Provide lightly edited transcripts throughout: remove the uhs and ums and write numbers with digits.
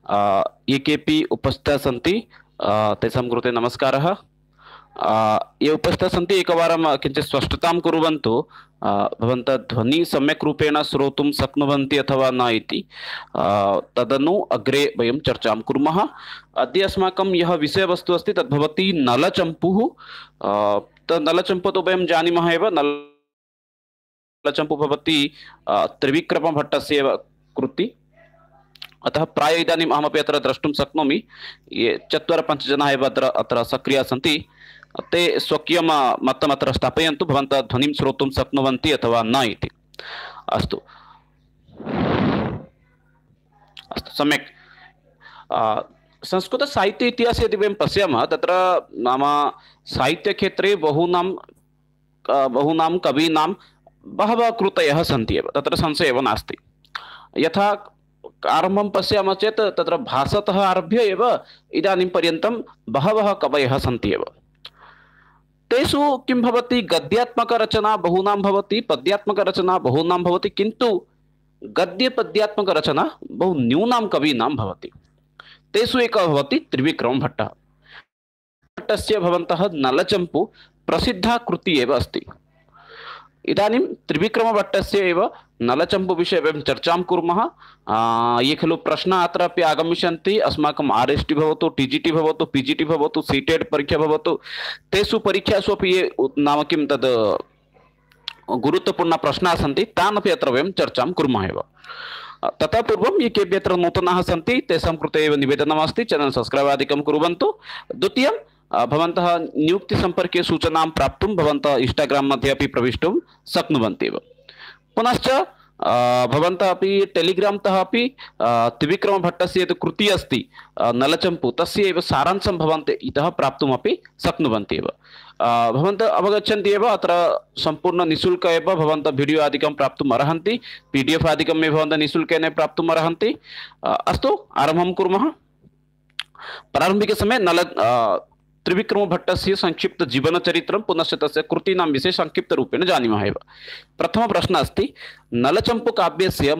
ये केपि उपस्थिताः सन्ति तेषां कृते नमस्कारः। ये उपस्थिताः सन्ति एकवारं किञ्चित् स्पष्टतां कुर्वन्तु। भवन्तः ध्वनिः सम्यक् रूपेण श्रोतुं शक्नुवन्ति अथवा न इति। तदनु अग्रे वयं चर्चां कुर्मः। अद्य अस्माकं यः विषयवस्तु अस्ति तद् भवति नलचम्पुः। नलचम्पु तु वयं जानीमः एव। नलचम्पु भवति त्रिविक्रमभट्टस्य एव कृति। अतः प्राय इदानीम् अहमपि अत्र द्रष्टुं शक्नोमि ये 4-5 जनाः एव अत्र सक्रियाः सन्ति। ते स्वकीयं मतम् अत्र स्थापयन्तु भवन्तः ध्वनिं श्रोतुं शक्नुवन्ति अथवा न इति। अस्तु अस्तु सम्यक्। संस्कृतसाहित्य इतिहासे यदि वयं पश्यामः तत्र नाम साहित्यक्षेत्रे बहूनां कवीनां बहवः कृतयः सन्ति एव, तत्र संशयः एव नास्ति। यथा आरम्भं पश्यामः चेत् तत्र भासतः आरभ्य एव इदानीं पर्यन्तं बहवः कवयः सन्ति एव। तेषु किं भवति, गद्यात्मकरचना बहूनां भवति, पद्यात्मकरचना बहूनां भवति, किन्तु गद्यपद्यात्मकरचना बहु न्यूनां कवीनां भवति। तेषु एकः भवति त्रिविक्रमभट्टः। भट्टस्य भवन्तः नलचम्पु प्रसिद्धा कृतिः एव अस्ति। इदानीं त्रिविक्रमभट्टस्य एव नलचम्पु विषये वयं चर्चां कुर्मः। ये खलु प्रश्नाः अत्रापि आगमिष्यन्ति, अस्माकं RST भवतु, TGT भवतु, PGT भवतु, CTET परीक्षा भवतु, तेषु परीक्षासु अपि ये नाम किं तद् गुरुत्वपूर्णाः प्रश्नाः सन्ति तान् अपि अत्र वयं चर्चां कुर्मः एव। ततः पूर्वं ये केऽपि अत्र नूतनाः सन्ति तेषां कृते एव निवेदनमस्ति, चैनल् सब्स्क्रैब् आदिकं कुर्वन्तु। द्वितीयं, भवन्तः नियुक्तिसम्पर्के सूचनां प्राप्तुं भवन्तः इन्स्टाग्राम् मध्ये अपि प्रवेष्टुं शक्नुवन्ति एव। पुनश्च भवन्तः अपि टेलिग्राम् तः अपि त्रिविक्रमभट्टस्य यत् कृतिः अस्ति नलचम्पु तस्य एव सारांशं भवन्तः इतः प्राप्तुमपि शक्नुवन्ति एव। भवन्तः अवगच्छन्ति एव, अत्र सम्पूर्ण निःशुल्क एव भवन्तः वीडियो आदिकं प्राप्तुम् अर्हन्ति, PDF आदिकम् एव भवन्तः निःशुल्केन प्राप्तुम् अर्हन्ति। अस्तु आरम्भं कुर्मः। प्रारम्भिकसमये त्रिविक्रमभट्टस्य संक्षिप्त जीवनचरित्रं पुनश्च तस्य कृतीनां विषये संक्षिप्तरूपेण जानीमः एव। प्रथमः प्रश्नः अस्ति, नलचम्पुकाव्यस्य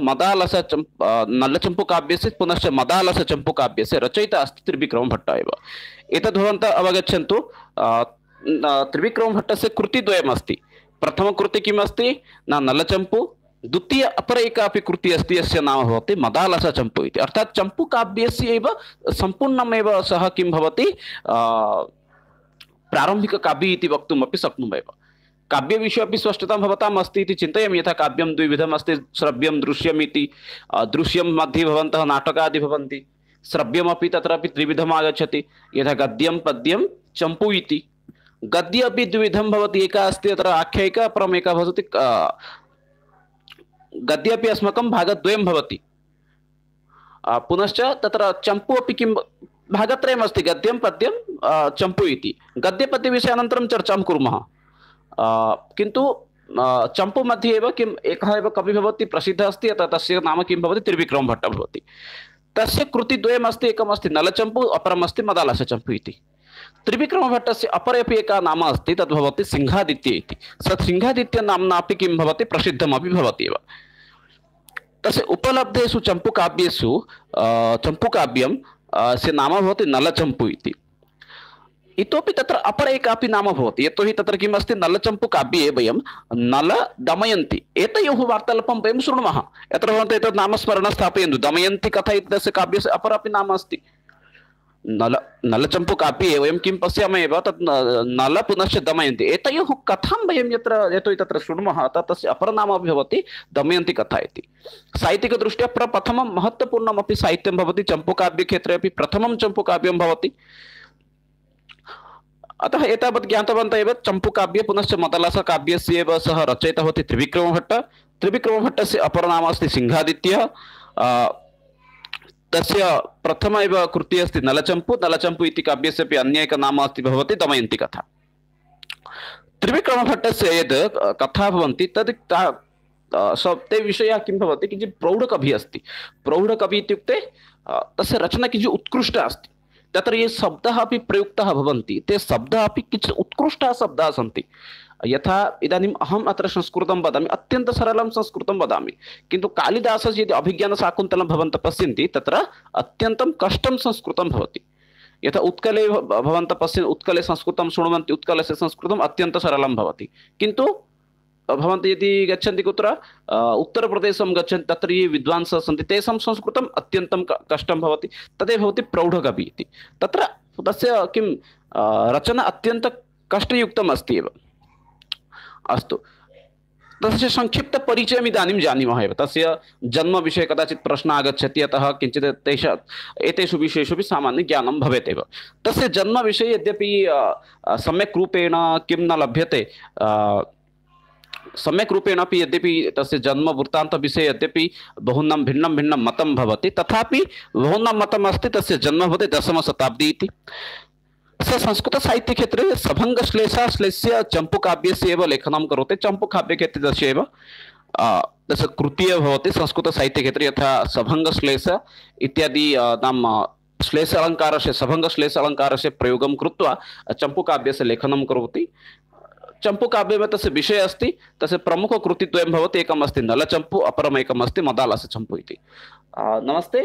नलचम्पुकाव्यस्य पुनश्च मदालसचम्पुकाव्यस्य रचयिता अस्ति त्रिविक्रमभट्टः एव। एतद् भवन्तः अवगच्छन्तु। त्रिविक्रमभट्टस्य कृतिद्वयमस्ति। प्रथमकृति किम् अस्ति न नलचम्पु, द्वितीय अपर एका अपि कृतिः अस्ति यस्य नाम भवति मदालसचम्पु इति। अर्थात् चम्पुकाव्यस्य एव सम्पूर्णमेव सः किं भवति प्रारम्भिककाव्यम् इति वक्तुमपि शक्नुमः एव। काव्यविषये अपि स्पष्टता भवताम् अस्ति इति चिन्तयामि। यथा काव्यं द्विविधम् अस्ति, श्रव्यं दृश्यम् इति। दृश्यं मध्ये भवन्तः नाटकादि भवन्ति, श्रव्यमपि तत्रापि त्रिविधम् आगच्छति, यथा गद्यं पद्यं चम्पु इति। गद्य अपि द्विविधं भवति, एका अस्ति तत्र आख्यायिका, अपरम् एका भवति गद्ये अपि अस्माकं भागद्वयं भवति। पुनश्च तत्र चम्पु अपि किं भागत्रयमस्ति, गद्यं पद्यं चम्पु इति। गद्यपद्यविषये अनन्तरं चर्चां कुर्मः। किन्तु चम्पु मध्ये एव किम् एकः एव कविः भवति, प्रसिद्धः अस्ति, अतः तस्य नाम किं भवति त्रिविक्रमभट्टः भवति। तस्य कृतिद्वयमस्ति, एकमस्ति नलचम्पु, अपरमस्ति मदालसचम्पु इति। त्रिविक्रमभट्टस्य अपरे अपि एका नाम अस्ति, तद् भवति सिंहादित्य इति। स सिंहादित्य नाम्ना अपि किं भवति प्रसिद्धमपि भवति एव। तस्य उपलब्धेषु चम्पुकाव्येषु चम्पुकाव्यं से नाम भवति नलचम्पु इति। इतोपि तत्र अपर एकापि नाम भवति, यतोहि तत्र किम् अस्ति नलचम्पुकाव्ये वयं नल दमयन्ति एतयोः वार्तालापं वयं शृणुमः। यत्र भवन्तः एतत् नामस्मरणं स्थापयन्तु। दमयन्ति कथा इत्यस्य काव्यस्य अपरपि नाम अस्ति। नलचम्पुकाव्ये वयं किं पश्यामः एव, तत् नल पुनश्च दमयन्ति एतयोः कथां वयं यतोहि तत्र शृणुमः, अतः तस्य अपरनाम अपि भवति दमयन्ति कथा इति। साहित्यिकदृष्ट्या प्रथमं महत्त्वपूर्णमपि साहित्यं भवति, चम्पुकाव्यक्षेत्रे अपि प्रथमं चम्पुकाव्यं भवति। अतः एतावत् ज्ञातवन्तः एव। चम्पुकाव्ये पुनश्च मदालसकाव्यस्य एव सः रचयिता भवति त्रिविक्रमभट्टः। त्रिविक्रमभट्टस्य अपरनाम अस्ति सिंहादित्यः। तस्य प्रथम एव कृतिः अस्ति नलचम्पु। नलचम्पु इति काव्यस्य अपि अन्य एकं नाम अस्ति भवति दमयन्ति कथा। त्रिविक्रमभट्टस्य यद् कथा भवन्ति तद् ते विषयः किं भवति, किञ्चित् प्रौढकविः अस्ति। प्रौढकविः इत्युक्ते तस्य रचना किञ्चित् उत्कृष्टा अस्ति। तत्र ये शब्दाः अपि प्रयुक्ताः भवन्ति ते शब्दाः अपि किञ्चित् उत्कृष्टाः शब्दाः सन्ति। यथा इदानीम् अहम् अत्र संस्कृतं वदामि, अत्यन्तं सरलं संस्कृतं वदामि, किन्तु कालिदासस्य यदि अभिज्ञानशाकुन्तलं भवन्तः पश्यन्ति तत्र अत्यन्तं कष्टं संस्कृतं भवति। यथा उत्कले भवन्तः पश्यन्ति, उत्कले संस्कृतं शृण्वन्ति, उत्कलस्य संस्कृतम् अत्यन्तं सरलं भवति, किन्तु भवन्तः यदि गच्छन्ति कुत्र उत्तरप्रदेशं गच्छन्ति, तत्र ये विद्वांसः सन्ति तेषां संस्कृतम् अत्यन्तं कष्टं भवति। तदेव भवति प्रौढकवि इति। तत्र तस्य किं रचना अत्यन्तं कष्टयुक्तम् अस्ति एव। अस्तु, तस्य संक्षिप्तपरिचयम् इदानीं जानीमः एव। तस्य जन्मविषये कदाचित् प्रश्नः आगच्छति, अतः किञ्चित् एतेषु विषयेषु अपि सामान्यज्ञानं भवेत् एव। तस्य जन्मविषये यद्यपि सम्यक् रूपेण किं न लभ्यते, सम्यक् रूपेण अपि यद्यपि तस्य जन्मवृत्तान्तविषये यद्यपि बहूनां भिन्नं भिन्नं मतं भवति, तथापि बहूनां मतम् अस्ति तस्य जन्म भवति दशमशताब्दी इति। स संस्कृतसाहित्यक्षेत्रे सभङ्गश्लेषाश्लेष्य चम्पूकाव्यस्य एव लेखनं करोति। चम्पूकाव्यक्षेत्रे तस्य एव तस्य कृतिः भवति संस्कृतसाहित्यक्षेत्रे, यथा सभङ्गश्लेष इत्यादि नाम श्लेष अलङ्कारस्य, सभङ्गश्लेष अलङ्कारस्य प्रयोगं कृत्वा चम्पूकाव्यस्य लेखनं करोति। चम्पूकाव्ये में तस्य विषय अस्ति, तस्य प्रमुखकृतिद्वयं भवति, एकम् अस्ति नलचम्पू, अपरम् एकम् अस्ति मदालसचम्पू इति। नमस्ते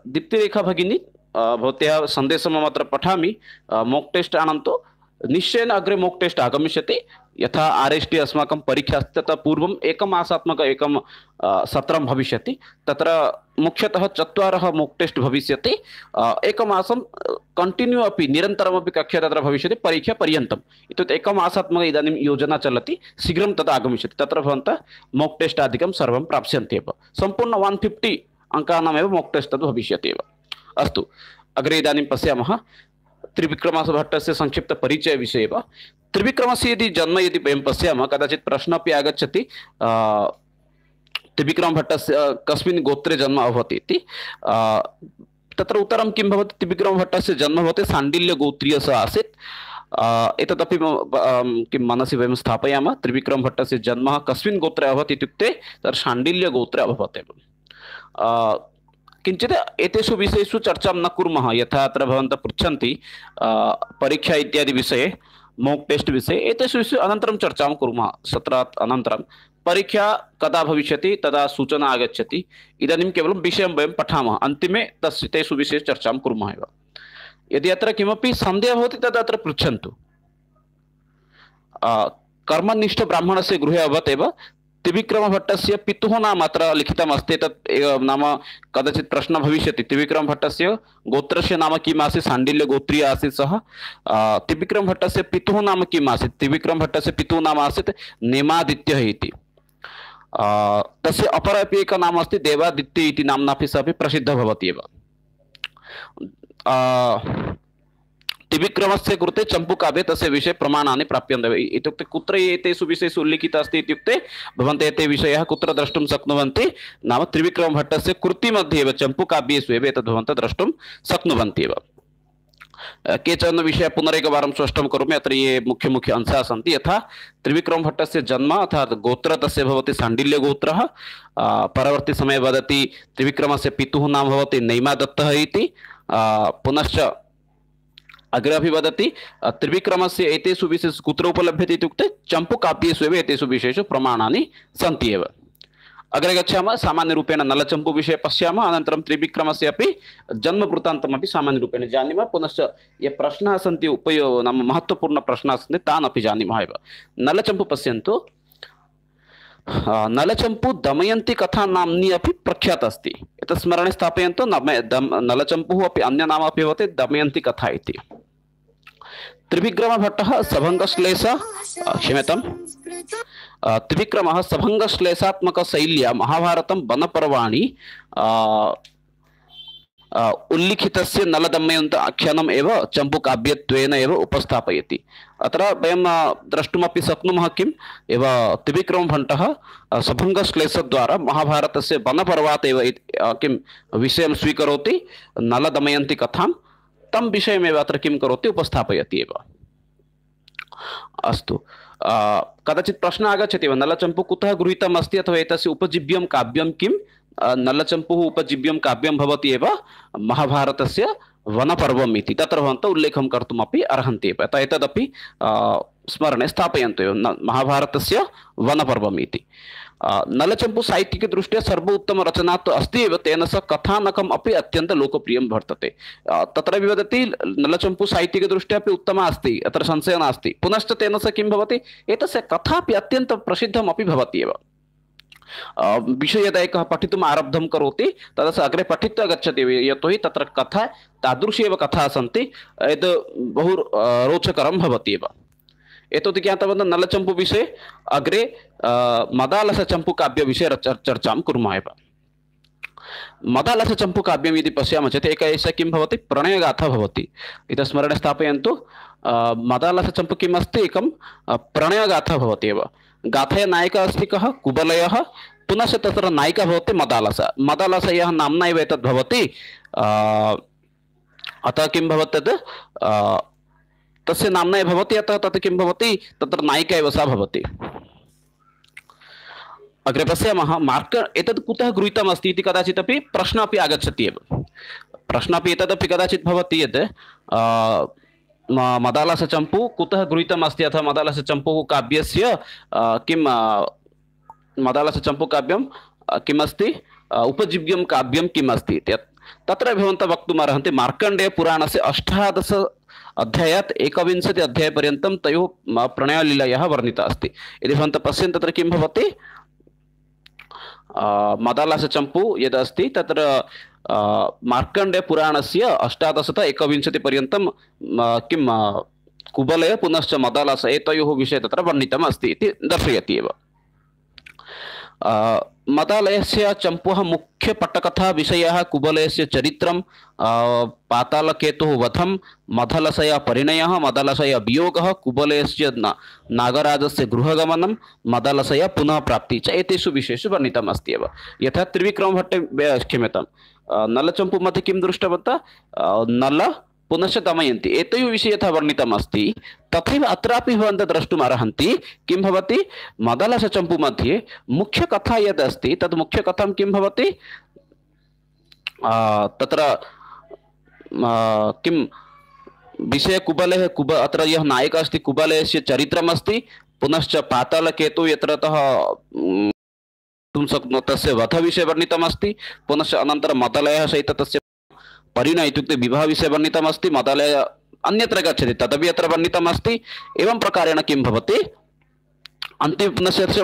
दीप्तिरेखा भगिनी, भवत्याः सन्देशम् अत्र पठामि। मोक् टेस्ट् आनन्तु, निश्चयेन अग्रे मोक् टेस्ट् आगमिष्यति। यथा RST अस्माकं परीक्षा अस्ति ततः पूर्वम् एकमासात्मक एकं सत्रं भविष्यति। तत्र मुख्यतः 4 मोक् टेस्ट् भविष्यति। एकमासं कण्टिन्यू अपि निरन्तरमपि कक्षा तत्र भविष्यति परीक्षापर्यन्तम्। इत्युक्ते एकमासात्मक इदानीं योजना चलति, शीघ्रं तद् आगमिष्यति। तत्र भवन्तः मोक् टेस्ट् आदिकं सर्वं प्राप्स्यन्ति एव। सम्पूर्ण 150 अङ्कानामेव मोक् टेस्ट् तद् भविष्यति एव। अस्तु, अग्रे इदानीं पश्यामः त्रिविक्रमभट्टस्य संक्षिप्तपरिचय विषये एव। त्रिविक्रमस्य यदि जन्म यदि वयं पश्यामः, कदाचित् प्रश्नः अपि आगच्छति त्रिविक्रमभट्टस्य कस्मिन् गोत्रे जन्म अभवत् इति। तत्र उत्तरं किं भवति? त्रिविक्रमभट्टस्य जन्म भवति शाण्डिल्यगोत्रीयः आसीत्। एतदपि किं मनसि वयं स्थापयामः। त्रिविक्रमभट्टस्य जन्म कस्मिन् गोत्रे अभवत् इत्युक्ते तत्र शाण्डिल्यगोत्रे अभवत् एव। किञ्चित् एतेषु विषयेषु चर्चां न कुर्मः। यथा अत्र भवन्तः पृच्छन्ति परीक्षा इत्यादि विषये, मोक् टेस्ट् विषये, एतेषु विषये अनन्तरं चर्चां कुर्मः। सत्रात् अनन्तरं परीक्षा कदा भविष्यति तदा सूचना आगच्छति। इदानीं केवलं विषयं वयं पठामः, अन्तिमे तेषु विषये चर्चां कुर्मः एव। यदि अत्र किमपि सन्देहः भवति तदा अत्र पृच्छन्तु। कर्मनिष्ठब्राह्मणस्य गृहे अभवत् एव। त्रिविक्रमभट्टस्य पितुः नाम अत्र लिखितमस्ति। तत् नाम कदाचित् प्रश्नः भविष्यति, त्रिविक्रमभट्टस्य गोत्रस्य नाम किम् आसीत्? शाण्डिल्यगोत्रीय आसीत् सः। त्रिविक्रमभट्टस्य पितुः नाम किम् आसीत्? त्रिविक्रमभट्टस्य पितुः नाम आसीत् नेमादित्यः इति। तस्य अपरपि एकं नाम अस्ति देवादित्य इति नाम्नापि सः अपि प्रसिद्धः भवति एव। त्रिविक्रमस्य कृते चम्पूकाव्ये तस्य विषये प्रमाणानि प्राप्यन्ते। इत्युक्ते कुत्र एतेषु विषयेषु उल्लिखितः अस्ति इत्युक्ते भवन्तः एते विषयाः कुत्र द्रष्टुं शक्नुवन्ति? नाम त्रिविक्रमभट्टस्य कृतिमध्ये एव, चम्पूकाव्येषु एव एतद् भवन्तः द्रष्टुं शक्नुवन्ति एव। केचन विषयाः पुनरेकवारं स्पष्टं करोमि। अत्र ये मुख्य मुख्य अंशाः सन्ति, यथा त्रिविक्रमभट्टस्य जन्म अर्थात् गोत्र तस्य भवति शाण्डिल्यगोत्रः। परवर्ती समये वदति त्रिविक्रमस्य पितुः नाम भवति नैमादत्तः इति। पुनश्च अग्रे अपि वदति त्रिविक्रमस्य एतेषु विषयेषु कुत्र उपलभ्यते इत्युक्ते चम्पूकाव्येषु एव एतेषु विषयेषु प्रमाणानि सन्ति एव। अग्रे गच्छामः, सामान्यरूपेण नलचम्पू विषये पश्यामः, अनन्तरं त्रिविक्रमस्य अपि जन्मवृत्तान्तमपि सामान्यरूपेण जानीमः। पुनश्च ये प्रश्नाः सन्ति नाम महत्त्वपूर्णप्रश्नाः सन्ति तान् अपि जानीमः एव। नलचम्पू पश्यन्तु। नलचम्पू दमयन्ती कथा नाम्नी अपि प्रख्यात अस्ति। एतत् स्मरणे स्थापयन्तु। नलचम्पूः अपि अन्य नाम अपि भवति दमयन्ती कथा इति। त्रिविक्रमभट्टः सभङ्गश्लेषः क्षम्यतां त्रिविक्रमः सभङ्गश्लेषात्मकशैल्या महाभारतं वनपर्वाणि उल्लिखितस्य नलदमयन्त आख्यानम् एव चम्पूकाव्यत्वेन एव उपस्थापयति। अत्र वयं द्रष्टुमपि शक्नुमः किम् एव त्रिविक्रमभट्टः सभङ्गश्लेषद्वारा महाभारतस्य वनपर्वात् एव किं विषयं स्वीकरोति, नलदमयन्ती कथां, तं विषयमेव अत्र किं करोति, उपस्थापयति एव। अस्तु, कदाचित् प्रश्नः आगच्छति वा, नलचम्पू कुतः गृहीतम् अस्ति अथवा एतस्य उपजीव्यं काव्यं किम्? नलचम्पूः उपजीव्यं काव्यं भवति एव महाभारतस्य वनपर्वम् इति तत्र भवन्तः उल्लेखं कर्तुमपि अर्हन्ति एव। अतः एतदपि स्मरणे स्थापयन्तु एव, महाभारतस्य वनपर्वम् इति। नलचम्पू साहित्यिकदृष्ट्या सर्वोत्तमरचना तु अस्ति एव, तेन सह कथानकम् अपि अत्यन्तं लोकप्रियं वर्तते। तत्रापि वदति नलचम्पू साहित्यिकदृष्ट्या अपि उत्तमा अस्ति, अत्र संशयः नास्ति। पुनश्च तेन सह किं भवति, एतस्य कथा अपि अत्यन्तं प्रसिद्धमपि भवति एव। विषये यदा एकः पठितुम् आरब्धं करोति तदा सः अग्रे पठित्वा गच्छति, यतोहि तत्र कथा तादृशी एव कथाः सन्ति, यद् बहु रोचकरं भवति एव। एतत् ज्ञातवन्तः नलचम्पू विषये। अग्रे मदालसचम्पू काव्यविषये चर्चां कुर्मः एव। मदालसचम्पू काव्यं यदि पश्यामः चेत् एका एषा किं भवति, प्रणयगाथा भवति। इतः स्मरणे स्थापयन्तु, मदालसचम्पू किम् अस्ति, एकं प्रणयगाथा भवति एव। गाथायाः नायिका अस्ति कः, कुबलयः, पुनश्च तत्र नायिका भवति मदालसा। मदालसयः नाम्ना एव एतद् भवति, अतः किं भवति तद् तस्य नाम्ना एव भवति, अतः तत् किं भवति, तत्र नायिका एव सा भवति। अग्रे पश्यामः, एतद् कुतः गृहीतमस्ति इति कदाचित् अपि प्रश्नः अपि आगच्छति एव। प्रश्नः अपि एतदपि कदाचित् भवति यत् मदालसचम्पू कुतः गृहीतमस्ति, अथवा मदालसचम्पू काव्यस्य किं मदालसचम्पू काव्यं किमस्ति, उपजीव्यं काव्यं किम् अस्ति। तत्र भवन्तः वक्तुम् अर्हन्ति, मार्कण्डेयपुराणस्य 18 अध्यायात् 21 अध्यायपर्यन्तं तयोः प्रणयलीलायाः वर्णिता अस्ति। यदि भवन्तः पश्यन्ति तत्र किं भवति, मदालसचम्पू यदस्ति तत्र मार्कण्डेयपुराणस्य 18 पर्यन्तं किं कुबलय पुनश्च मदालस एतयोः विषये तत्र वर्णितम् अस्ति इति दर्शयति एव। मदालयस्य चम्पुः मुख्यपट्टकथा विषयः कुबलयस्य चरित्रं, पातालकेतुः वधं, मदलसया परिणयः, मदलसया वियोगः, कुबलयस्य नागराजस्य गृहगमनं, मदलसया पुनः प्राप्तिः च एतेषु विषयेषु वर्णितम् अस्ति एव। यथा त्रिविक्रमभट्टे, क्षम्यतां, नलचम्पू मध्ये किं दृष्टवन्तः, नल पुनश्च दमयन्ती एतयोः विषये यथा वर्णितम् अस्ति तथैव अत्रापि भवन्तः द्रष्टुम् अर्हन्ति किं भवति, मदालसचम्पू मध्ये मुख्यकथा यद् अस्ति तद् मुख्यकथां किं भवति, तत्र किं विषय कुबलः अत्र यः नायकः अस्ति कुबलयस्य चरित्रमस्ति, पुनश्च पातालकेतुः यत्रतः तस्य वधविषये वर्णितमस्ति, पुनश्च अनन्तरं मदलयः सहित तस्य परिणय इत्युक्ते विवाह विषये वर्णितमस्ति, मदालय अन्यत्र गच्छति तदपि अत्र वर्णितमस्ति। एवं प्रकारेण किं भवति, अन्तिम पुनश्च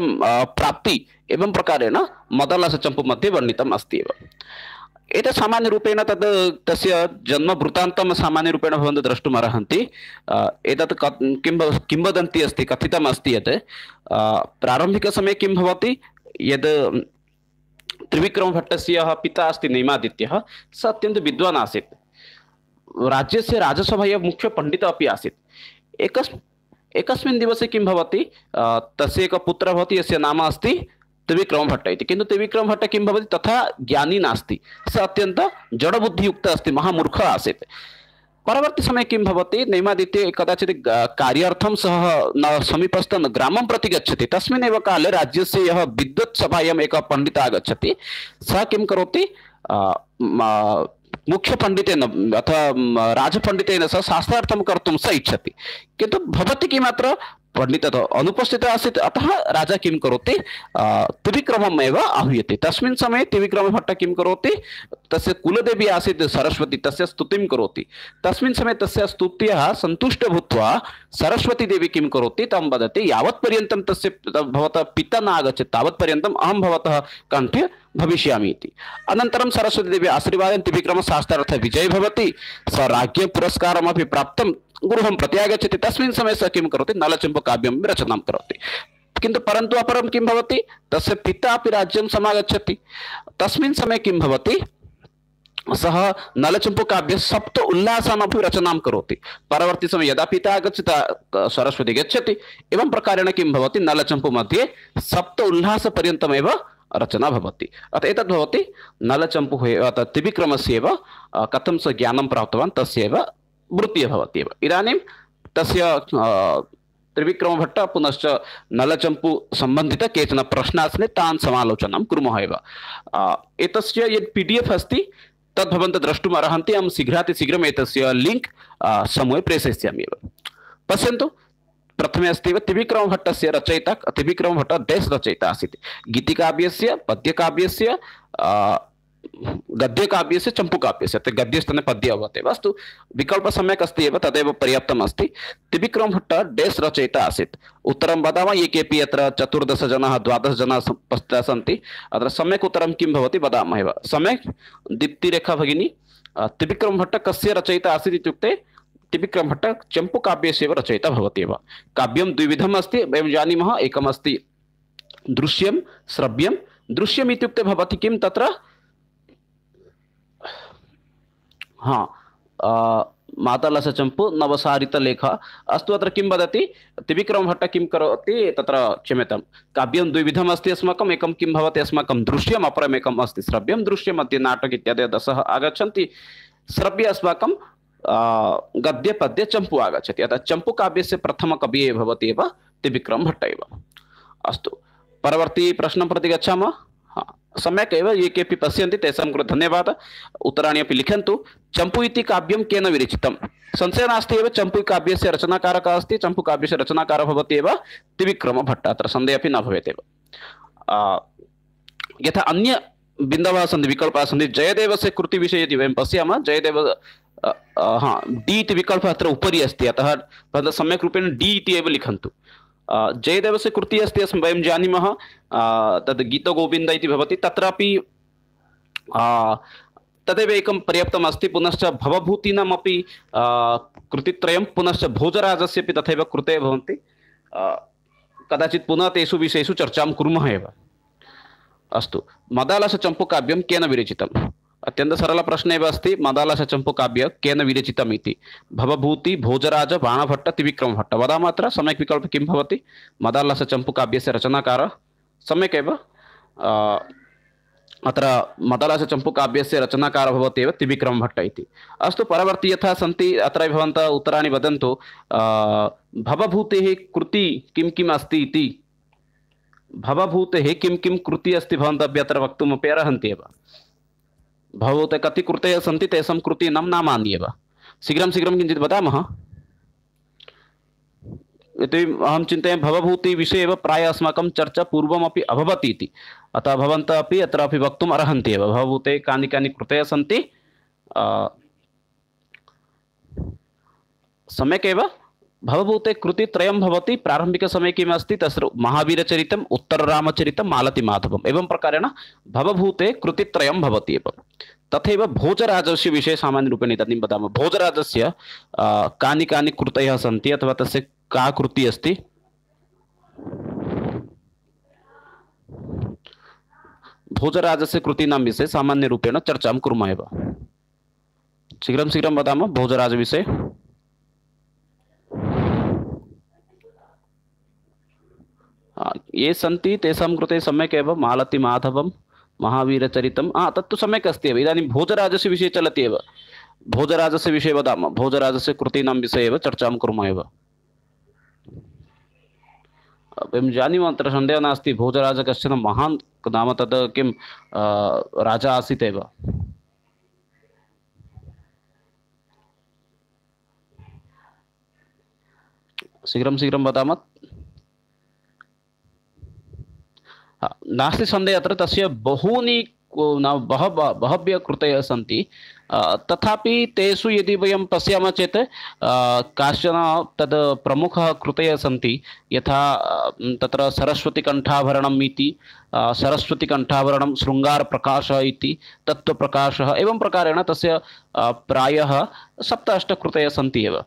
प्राप्ति एवं प्रकारेण मदालसचम्पू मध्ये वर्णितम् अस्ति एव। एतत् सामान्यरूपेण तद् तस्य जन्मवृत्तान्तं सामान्यरूपेण भवन्तः द्रष्टुम् अर्हन्ति। एतत् किंवदन्ती अस्ति, कथितम् अस्ति यत् प्रारम्भिकसमये किं भवति, यद् त्रिविक्रमभट्टस्य पिता अस्ति नैमादित्यः, सः अत्यन्तं विद्वान् आसीत्, राज्यस्य राजसभायाः मुख्यपण्डितः अपि आसीत्। एकस्मिन् दिवसे किं भवति, तस्य एकः पुत्रः भवति यस्य नाम अस्ति त्रिविक्रमभट्ट इति, किन्तु त्रिविक्रमभट्ट किं भवति तथा ज्ञानी नास्ति, सः अत्यन्तं जडबुद्धियुक्तः अस्ति, महामूर्खः आसीत्। परवर्ती समये किं भवति, नैमादित्य कदाचित् कार्यार्थं सः समीपस्थं ग्रामं प्रति गच्छति, तस्मिन् एव काले राज्यस्य यः विद्वत् सभायाम् एकः पण्डितः आगच्छति, सः किं करोति, मुख्यपण्डितेन अथवा राजपण्डितेन सह शास्त्रार्थं कर्तुं स इच्छति, किन्तु भवति किम् अत्र पण्डितः अनुपस्थितः आसीत्, अतः राजा किं करोति, त्रिविक्रमम् एव आहूयते। तस्मिन् समये त्रिविक्रमभट्ट किं करोति, तस्य कुलदेवी आसीत् सरस्वती, तस्य स्तुतिं करोति। तस्मिन् समये तस्य स्तुत्याः सन्तुष्ट भूत्वा सरस्वती देवी किं करोति, तं वदति, यावत्पर्यन्तं तस्य भवतः पिता न आगच्छति तावत्पर्यन्तम् अहं भवतः कण्ठे भविष्यामि इति। अनन्तरं सरस्वती देवी आशीर्वादेन त्रिविक्रमः शास्त्रार्थे विजयी भवति, स राज्ञ पुरस्कारमपि प्राप्तं, गृहं प्रति आगच्छति। तस्मिन् समये सः किं करोति, नलचम्पू काव्यं रचनां करोति। किन्तु परन्तु अपरं किं भवति, तस्य पिता अपि राज्यं समागच्छति। तस्मिन् समये किं भवति, सः नलचम्पू काव्य सप्त उल्लासानपि रचनां करोति। परवर्ती समये यदा पिता आगच्छति सरस्वती गच्छति, एवं प्रकारेण किं भवति, नलचम्पू मध्ये सप्त उल्लासपर्यन्तमेव रचना भवति। अतः एतद् भवति नलचम्पूः अतः त्रिविक्रमस्य एव कथं स ज्ञानं प्राप्तवान् तस्यैव वृत्तिः भवति एव। इदानीं तस्य त्रिविक्रमभट्ट पुनश्च नलचम्पू सम्बन्धित केचन प्रश्नाः सन्ति, तान् समालोचनं कुर्मः एव। एतस्य यत् PDF अस्ति तद् भवन्तः द्रष्टुम् अर्हन्ति। अहं शीघ्रातिशीघ्रम् एतस्य लिङ्क् समूहे प्रेषयिष्यामि एव। पश्यन्तु, प्रथमे अस्ति एव त्रिविक्रमभट्टस्य रचयिता त्रिविक्रमभट्टः देश रचयिता आसीत्। गीतिकाव्यस्य, पद्यकाव्यस्य, गद्यकाव्यस्य, चम्पूकाव्यस्य। गद्यस्थाने पद्य अभवत् एव। अस्तु, विकल्पः सम्यक् अस्ति एव, तदेव पर्याप्तम् अस्ति। त्रिविक्रमभट्टः देश रचयिता आसीत्। उत्तरं वदामः। ये केपि अत्र 14 जनाः 12 जनाः उपस्थिताः सन्ति। अत्र सम्यक् उत्तरं किं भवति वदामः एव। सम्यक् दीप्तिरेखा भगिनी, त्रिविक्रमभट्टः कस्य रचयिता आसीत् इत्युक्ते त्रिविक्रमभट्टः चम्पूकाव्यस्य एव रचयिता भवति एव। काव्यं द्विविधम् अस्ति, वयं जानीमः। एकम् अस्ति दृश्यं, श्रव्यं। दृश्यम् इत्युक्ते भवति किं तत्र मातलसचम्पू नवसारितलेख। अस्तु, अत्र किं वदति त्रिविक्रमभट्टः किं करोति तत्र, क्षम्यतां, काव्यं द्विविधम् अस्ति अस्माकम्। एकं किं भवति अस्माकं दृश्यम्, अपरम् एकम् अस्ति श्रव्यं। दृश्यं मध्ये नाटक इत्यादयः दशः आगच्छन्ति। श्रव्य अस्माकं गद्य पद्य चम्पू आगच्छति। अतः चम्पूकाव्यस्य प्रथमकविः भवति एव त्रिविक्रमभट्टः एव। अस्तु, परवर्ती प्रश्नं प्रति गच्छामः। सम्यक् एव, ये केपि पश्यन्ति तेषां कृते धन्यवादः। उत्तराणि अपि लिखन्तु। चम्पू इति काव्यं केन विरचितं? संशयः नास्ति एव, चम्पू काव्यस्य रचनाकारः कः अस्ति? चम्पू काव्यस्य रचनाकारः भवति एव त्रिविक्रमभट्टः। अत्र सन्देहः अपि न भवेत् एव। यथा अन्य बिन्दवः सन्ति, विकल्पाः सन्ति। जयदेवस्य कृतिविषये यदि वयं पश्यामः, जयदेव डी इति विकल्पः अत्र उपरि अस्ति। अतः भवन्तः सम्यक् रूपेण डी इति एव लिखन्तु। जयदेवस्य कृतिः अस्ति, वयं जानीमः, तद् गीतगोविन्द इति भवति। तत्रापि तदेव एकं पर्याप्तम् अस्ति। पुनश्च भवभूतीनामपि कृतित्रयं, पुनश्च भोजराजस्य अपि तथैव कृतयः भवन्ति। कदाचित् पुनः तेषु विषयेषु चर्चां कुर्मः एव। अस्तु, मदालसचम्पूकाव्यं केन विरचितम्? अत्यन्त सरल प्रश्न एव अस्ति। मदालसचम्पूकाव्य केन विरचितम् इति? भवभूति, भोजराज, बाणभट्ट, त्रिविक्रमभट्ट। वदामः अत्र सम्यक् विकल्पः किं भवति? मदालसचम्पूकाव्यस्य रचनाकारः सम्यक् एव। अत्र मदालसचम्पूकाव्यस्य रचनाकारः भवति एव त्रिविक्रमभट्ट इति। अस्तु, परवर्ती यथा सन्ति अत्र भवन्तः उत्तराणि वदन्तु। भवभूतेः कृति किं किम् अस्ति इति? भवभूतेः किं किं कृतिः अस्ति भवन्तः अपि अत्र वक्तुमपि अर्हन्ति एव। भवभूते कति कृतयः सन्ति, तेषां कृतीनां नामानि एव। शीघ्रं शीघ्रं किञ्चित् वदामः। यतोहि अहं चिन्तयामि भवभूतिविषये एव प्रायः अस्माकं चर्चा पूर्वमपि अभवत् इति। अतः भवन्तः अपि अत्रापि वक्तुम् अर्हन्ति एव। भवभूते कानि कानि कृतयः सन्ति, सम्यक् एव। भवभूते कृतित्रयं भवति। प्रारम्भिकसमये किम् अस्ति? तस्य महावीरचरितम्, उत्तररामचरितं, मालतीमाधवम्। एवं प्रकारेण भवभूते कृतित्रयं भवति एव। तथैव भोजराजस्य विषये सामान्यरूपेण इदानीं वदामः। भोजराजस्य कानि कानि कृतयः सन्ति, अथवा तस्य का कृतिः अस्ति? भोजराजस्य कृतीनां विषये सामान्यरूपेण चर्चां कुर्मः एव। शीघ्रं शीघ्रं वदामः भोजराजविषये। ये सन्ति तेषां कृते सम्यक् एव। मालतीमाधवं, महावीरचरितं, तत्तु सम्यक् अस्ति एव। इदानीं भोजराजस्य विषये चलति एव। भोजराजस्य विषये वदामः। भोजराजस्य कृतीनां विषये एव चर्चां कुर्मः एव। वयं जानीमः, अत्र सन्देहः नास्ति। भोजराज कश्चन महान् नाम, तद् किं राजा आसीत् एव। शीघ्रं शीघ्रं वदामः। नास्ति सन्देहः, अत्र तस्य बहूनि बहव्यः कृतयः सन्ति। तथापि तेषु यदि वयं पश्यामः चेत् काश्चन तद् प्रमुखः कृतयः सन्ति। यथा तत्र सरस्वतीकण्ठाभरणम् इति, सरस्वतीकण्ठाभरणं, शृङ्गारप्रकाशः इति, तत्त्वप्रकाशः। एवं प्रकारेण तस्य प्रायः 7-8 कृतयः सन्ति एव।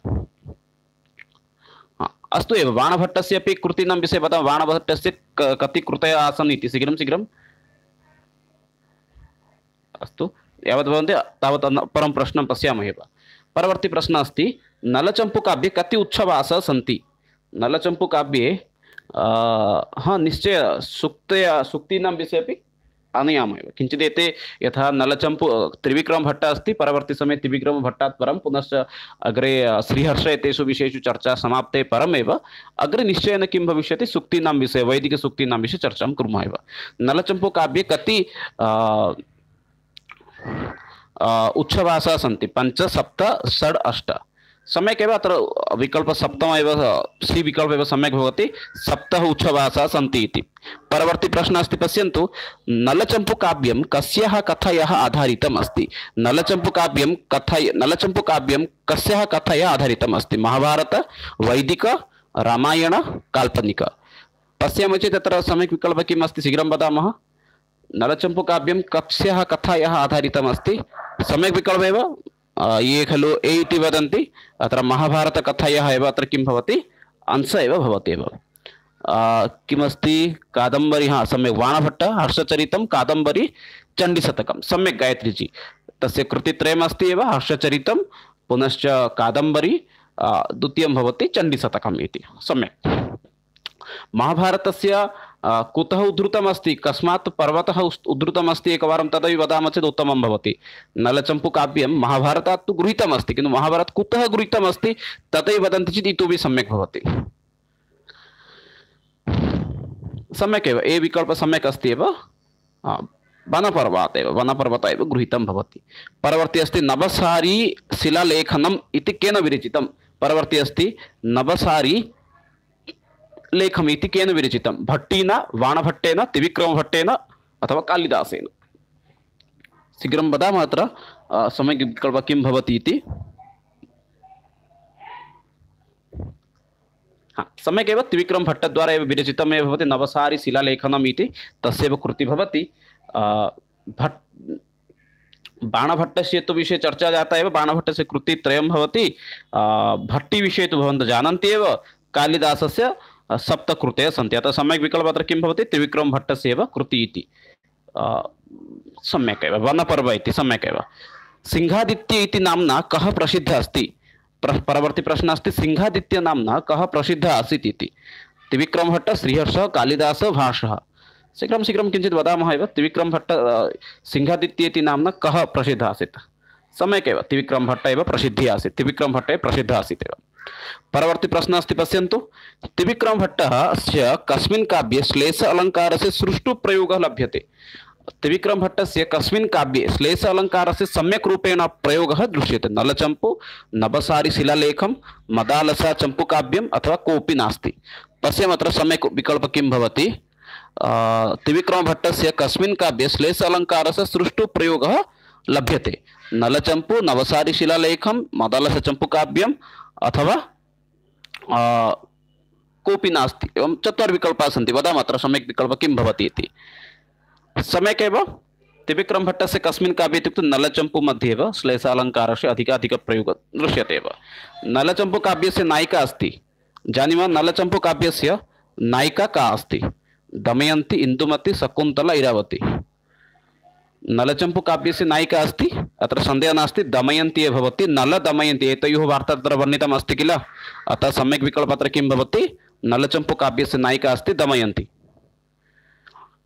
अस्तु एव। बाणभट्टस्य अपि कृतीनां विषये वदामः। बाणभट्टस्य कति कृतयः आसन् इति? शीघ्रं शीघ्रम्। अस्तु, यावत् भवन्ति तावत् परं प्रश्नं पश्यामः एव। परवर्ती प्रश्नः अस्ति, नलचम्पूकाव्ये कति उत्सवाः सन्ति? नलचम्पूकाव्ये निश्चय सूक्तीनां विषये अपि आनयामः एव। किञ्चित् एते यथा नलचम्पू त्रिविक्रमभट्टः अस्ति, परवर्ती समये त्रिविक्रमभट्टात् परं पुनश्च अग्रे श्रीहर्ष एतेषु विषयेषु चर्चा समाप्ते परमेव अग्रे निश्चयेन किं भविष्यति, सूक्तीनां विषये, वैदिकसूक्तीनां विषये चर्चां कुर्मः एव। नलचम्पूकाव्ये कति उच्छभाषाः सन्ति 5 7 षड् 8 सम्यक् एव अत्र विकल्प सप्तम एव सी विकल्प एव सम्यक् भवति 7 उच्छभाषाः सन्ति इति। परवर्ती प्रश्नः अस्ति पश्यन्तु नलचम्पूकाव्यं कस्याः कथायाः आधारितम् अस्ति। नलचम्पूकाव्यं कस्याः कथायाः आधारितम् अस्ति। महाभारत, वैदिक, रामायण, काल्पनिक। पश्यामः चेत् तत्र सम्यक् विकल्प किम् अस्ति शीघ्रं वदामः। नलचम्पूकाव्यं कस्याः कथायाः आधारितम् अस्ति। सम्यक् विकल्प एव ये खलु ए इति वदन्ति अत्र महाभारतकथायाः एव अत्र किं भवति अंश एव भवति एव। किमस्ति कादम्बरी हाँ सम्यक् वाणभट्ट हर्षचरितं कादम्बरी चण्डीशतकं सम्यक् गायत्रीजी तस्य कृतित्रयमस्ति एव हर्षचरितं पुनश्च कादम्बरी द्वितीयं भवति चण्डीशतकम् इति सम्यक्। महाभारतस्य कुतः उद्धृतमस्ति कस्मात् पर्वतः उद्धृतमस्ति एकवारं तदपि वदामः चेत् उत्तमं भवति। नलचम्पूकाव्यं महाभारतात् तु गृहीतमस्ति किन्तु महाभारत कुतः गृहीतमस्ति तथैव वदन्ति चेत् इतोपि सम्यक् भवति। सम्यक् एव ए विकल्प सम्यक् अस्ति एव वनपर्वतात् एव वनपर्वत एव गृहीतं भवति। परवर्ती अस्ति नवसारी शिलालेखनम् इति केन विरचितं। परवर्ती अस्ति नवसारी लेखमिति केन विरचितं। भट्टिना, वाणभट्टेन, त्रिविक्रमभट्टेन अथवा कालिदासेन। शीघ्रं वदामः अत्र सम्यक् विकल्प किं भवति इति। सम्यक् एव त्रिविक्रमभट्टद्वारा एव विरचितमेव भवति नवसारी शिलालेखनम् इति तस्यैव कृतिः भवति। बाणभट्टस्य तु विषये चर्चा जाता एव। बाणभट्टस्य कृतित्रयं भवति। भट्टिविषये तु भवन्तः जानन्ति एव। कालिदासस्य 7 कृतयः सन्ति। अतः सम्यक् विकल्पः अत्र किं भवति त्रिविक्रमभट्टस्य एव कृतिः इति सम्यक् एव। वनपर्व इति सम्यक् एव। सिंहादित्य इति नाम्ना कः प्रसिद्धः अस्ति। परवर्ती प्रश्नः अस्ति सिंहादित्य नाम्ना कः प्रसिद्धः आसीत् इति। त्रिविक्रमभट्ट, श्रीहर्षः, कालिदासः, भासः। शीघ्रं शीघ्रं किञ्चित् वदामः एव। त्रिविक्रमभट्ट सिंहादित्य इति नाम्ना कः प्रसिद्धः आसीत्। सम्यक् एव त्रिविक्रमभट्ट एव प्रसिद्धिः आसीत्। त्रिविक्रमभट्टे प्रसिद्धः आसीत् एव। परवर्ती प्रश्नः अस्ति पश्यन्तु त्रिविक्रमभट्टस्य कस्मिन् काव्ये श्लेष अलङ्कारस्य सुष्ठु प्रयोगः लभ्यते। त्रिविक्रमभट्टस्य कस्मिन् काव्ये श्लेष अलङ्कारस्य सम्यक् रूपेण प्रयोगः दृश्यते। नलचम्पू, नवसारी शिलालेखं, मदालसा चम्पूकाव्यम् अथवा कोऽपि नास्ति। पश्यामः अत्र सम्यक् विकल्प किं भवति। त्रिविक्रमभट्टस्य कस्मिन् काव्ये श्लेष अलङ्कारस्य सुष्ठु प्रयोगः लभ्यते। नलचम्पू, नवसारी शिलालेखं, मदालसा चम्पूकाव्यम् अथवा कोऽपि नास्ति। एवं 4 विकल्पाः सन्ति। वदामः अत्र सम्यक् विकल्प किं भवति इति। सम्यक् एव त्रिविक्रमभट्टस्य कस्मिन् काव्ये इत्युक्ते नलचम्पू मध्ये एव श्लेषालङ्कारस्य अधिकाधिकप्रयोगः दृश्यते एव। नलचम्पूकाव्यस्य नायिका अस्ति जानीमः। नलचम्पूकाव्यस्य नायिका का अस्ति। दमयन्ती, इन्दुमती, शकुन्तला, इरावती। नलचम्पूकाव्यस्य नायिका अस्ति अत्र सन्देहः नास्ति दमयन्ती एव भवति। नल दमयन्ती एतयोः वार्ता तत्र वर्णितम् अस्ति किल। अतः सम्यक् विकल्पः अत्र किं भवति नलचम्पूकाव्यस्य नायिका अस्ति दमयन्ती।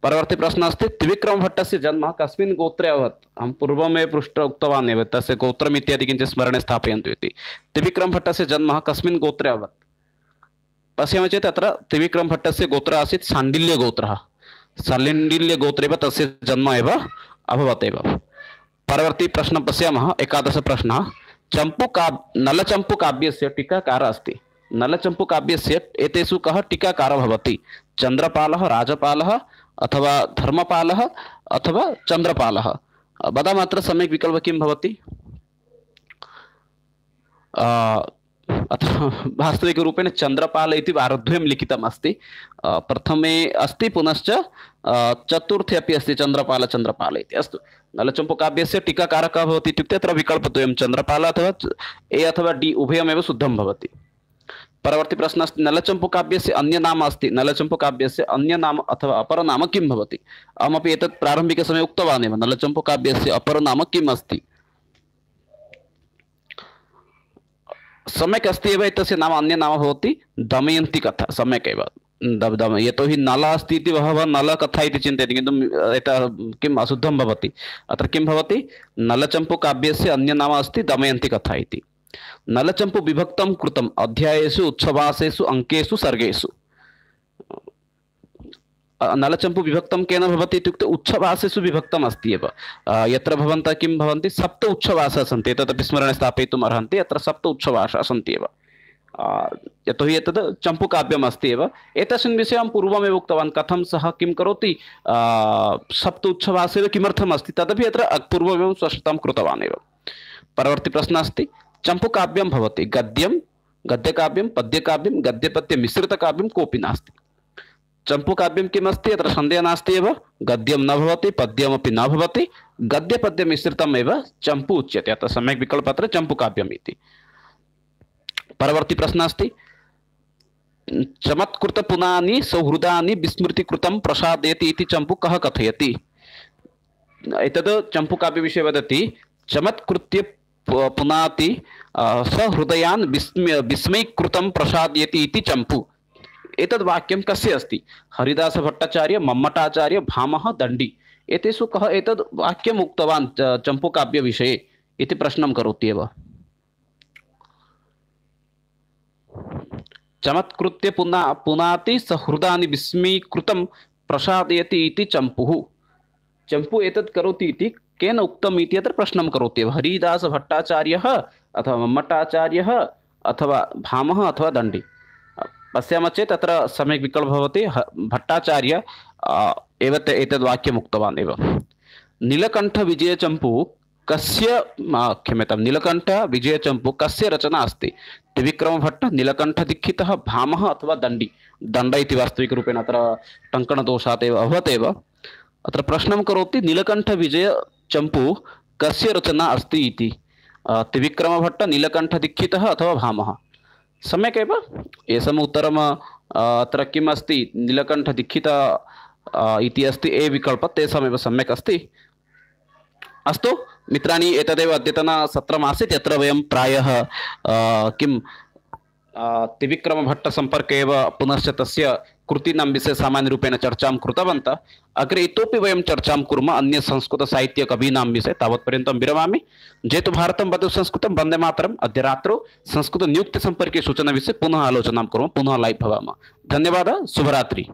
परवर्ती प्रश्नः अस्ति त्रिविक्रमभट्टस्य जन्म कस्मिन् गोत्रे अभवत्। अहं पूर्वमेव उक्तवान् एव तस्य गोत्रम् इत्यादि किञ्चित् स्मरणे स्थापयन्तु इति। त्रिविक्रमभट्टस्य जन्म कस्मिन् गोत्रे अभवत्। पश्यामः चेत् अत्र त्रिविक्रमभट्टस्य गोत्रः आसीत् शाण्डिल्यगोत्रः। शाण्डिल्यगोत्रे तस्य जन्म एव अभवत् एव। परवर्ती प्रश्नं पश्यामः 11 प्रश्नः नलचम्पूकाव्यस्य टीकाकारः अस्ति। नलचम्पूकाव्यस्य एतेषु कः टीकाकारः भवति। चन्द्रपालः, राजपालः अथवा धर्मपालः अथवा चन्द्रपालः। वदामः अत्र सम्यक् विकल्पः किं भवति। अत्र वास्तविकरूपेण चन्द्रपाल इति आरब्धं लिखितम् अस्ति। प्रथमे अस्ति पुनश्च चतुर्थे अपि अस्ति चन्द्रपाल चन्द्रपाल इति। अस्तु नलचम्पूकाव्यस्य टीकाकारः कः भवति इत्युक्ते अत्र विकल्पद्वयं चन्द्रपाल अथवा ए अथवा डी उभयमेव शुद्धं भवति। परवर्ती प्रश्नः अस्ति नलचम्पूकाव्यस्य अन्य नाम अस्ति। नलचम्पूकाव्यस्य अन्य नाम अथवा अपरनाम किं भवति। अहमपि एतत् प्रारम्भिकसमये उक्तवान् एव। नलचम्पूकाव्यस्य अपरनाम किम् अस्ति। सम्यक् अस्ति एव। एतस्य नाम अन्य नाम भवति दमयन्ती कथा। सम्यक् एव यतोहि नल अस्ति इति बहवः नलकथा इति चिन्तयन्ति किन्तु एतत् किम् अशुद्धं भवति। अत्र किं भवति नलचम्पूकाव्यस्य अन्य नाम अस्ति दमयन्ती कथा इति। नलचम्पू विभक्तं कृतम् अध्यायेषु, उत्सवासेषु, अङ्केषु, सर्गेषु। नलचम्पू विभक्तं केन भवति इत्युक्ते उच्छवासेषु विभक्तम् अस्ति एव। यत्र भवन्तः किं भवन्ति सप्त उच्छवासाः सन्ति, तदपि स्मरणे स्थापयितुम् अर्हन्ति। अत्र सप्त उच्छवासाः सन्ति एव, यतोहि एतद् चम्पूकाव्यम् अस्ति एव। एतस्मिन् विषये अहं पूर्वमेव उक्तवान्, कथं सः किं करोति, सप्त उच्छवासेव किमर्थम् अस्ति तदपि अत्र पूर्वमेव स्पष्टतां कृतवान् एव। परवर्ती प्रश्नः अस्ति, चम्पूकाव्यं भवति गद्यं, गद्यकाव्यं, पद्यकाव्यं, गद्यपद्यमिश्रितकाव्यं कोऽपि नास्ति। चम्पूकाव्यं किम् अस्ति, अत्र सन्देहः नास्ति एव। गद्यं न भवति, पद्यमपि न भवति, गद्यपद्यमिश्रितम् एव चम्पू उच्यते। अतः सम्यक् विकल्पः अत्र चम्पूकाव्यम् इति। परवर्ती प्रश्नः अस्ति, चमत्कृतपुनानि सौहृदानि विस्मृतिकृतं प्रसादयति इति चम्पू कः कथयति। एतद् चम्पूकाव्यविषये वदति, चमत्कृत्य पुनाति सहृदयान् विस्मयीकृतं प्रसादयति इति चम्पू। एतद् वाक्यं कस्य अस्ति, हरिदासभट्टाचार्य, मम्मटाचार्य, भामह, दण्डी, एतेषु कः एतद् वाक्यम् उक्तवान् चम्पूकाव्यविषये इति प्रश्नं करोति एव। चमत्कृत्य पुनाति सहृदानि विस्मयीकृतं प्रसादयति इति चम्पुः। चम्पू एतत् करोति इति केन उक्तम् इति अत्र प्रश्नं करोति एव। हरिदासभट्टाचार्यः अथवा मम्मटाचार्यः अथवा भामह अथवा दण्डी। पश्यामः चेत् अत्र सम्यक् विकल्पः भवति भट्टाचार्य एव एतद् वाक्यम् उक्तवान् एव। नीलकण्ठविजयचम्पू कस्य, क्षम्यतां, नीलकण्ठविजयचम्पू कस्य रचना अस्ति। त्रिविक्रमभट्ट, नीलकण्ठदीक्षितः, भामह अथवा दण्डी। दण्ड इति वास्तविकरूपेण अत्र टङ्कणदोषात् एव अभवत् एव। अत्र प्रश्नं करोति, नीलकण्ठविजयचम्पू कस्य रचना अस्ति इति। त्रिविक्रमभट्ट, नीलकण्ठदीक्षितः अथवा भामह। सम्यक् एव, एषम् उत्तरम् अत्र किम् अस्ति, नीलकण्ठदीक्षित इति अस्ति ए विकल्पः, तेषामेव सम्यक् अस्ति। अस्तु मित्राणि, एतदेव अद्यतनसत्रमासीत्, यत्र वयं प्रायः किं त्रिविक्रमभट्टसम्पर्के एव पुनश्च तस्य कृतीनां विषये सामान्यरूपेण चर्चां कृतवन्तः। अग्रे इतोपि वयं चर्चां कुर्मः अन्य संस्कृतसाहित्यकवीनां विषये। तावत्पर्यन्तं विरमामि। जयतु भारतं, वदतु संस्कृतं, वन्दे मातरम्। अद्य रात्रौ संस्कृतनियुक्तिसम्पर्के सूचनाविषये पुनः आलोचनां कुर्मः, पुनः लैव् भवामः। धन्यवादः, शुभरात्रि।